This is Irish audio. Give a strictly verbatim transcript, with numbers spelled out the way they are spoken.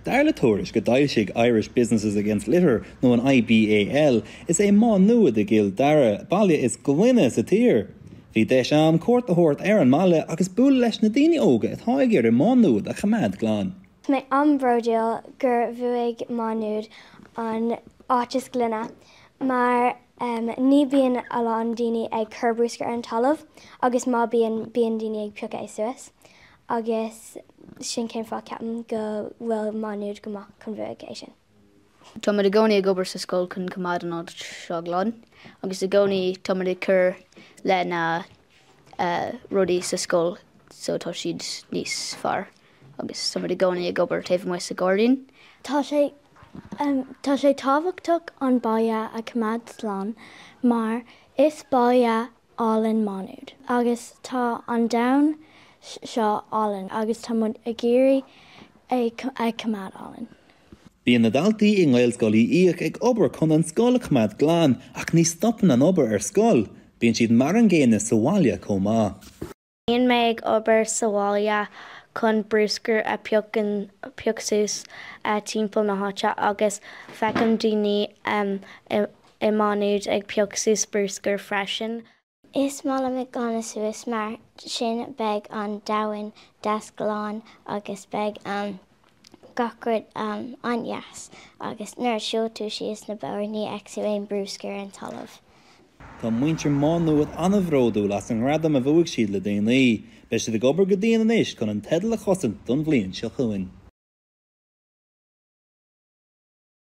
Dar le tuairisc a d'fhoilsigh Irish Businesses Against Litter nó an IBAL, is é Má Nuad i gCill Dara baile is glaine sa tír. Bhí deis agam cuairt a thabhairt ar an mbaile agus bualadh leis na daoine óga atá ag iarraidh Má Nuad a choimeád glan. Mé an-bhródúil gur bhuaigh Má Nuad an áit is glaine mar um, ní bíonn a lán daoine ag cur bruscar ar an talamh agus má bíonn bíonn daoine ag piocadh é suas. agus sin cén fáth ceapaim go bhfuil Má Nuad go maith chun bhuaigh é sin. Tá muid i gcónaí ag obair sa scoil chun coimeád an áit seo glan, agus i gcónaí tá muid ag cur le na uh, rudaí sa scoil so tá siad níos fearr agus tá muid i gcónaí ag obair taobh amuigh sa ghairdín. Tá sé um, tá sé tábhachtach an baile a choimeád slán mar is baile álainn Má Nuad. Agus tá an domhan seo álainn agus tá muid ag iarraidh é a choimeád álainn. Bíonn na daltaí i nGaelscoil Uí Fhiaich ag obair chun an scoil a choimeád glan ach ní stopann an obair ar scoil, bíonn siad mar an gcéanna sa bhaile chomh maith. Bíonn mé ag obair sa bhaile chun bruscar a phiocadh suas timpeall na háite agus feicim daoine um, i, i Má Nuad ag piocadh suas bruscar freisin. Is maith liom ag glanadh suas mar sin beidh an domhan deas glan agus beidh um, gach rud um, an-deas agus nuair a shiúlann tú síos na bóithre ní fheicfidh tú aon bruscar an talamh. Tá muintir Má Nuad an-bhródúil as an ngradam a bhuaigh siad le déanaí, Beidh siad ag obair go dian anois chun an teideal a chosaint don bhliain seo chugainn.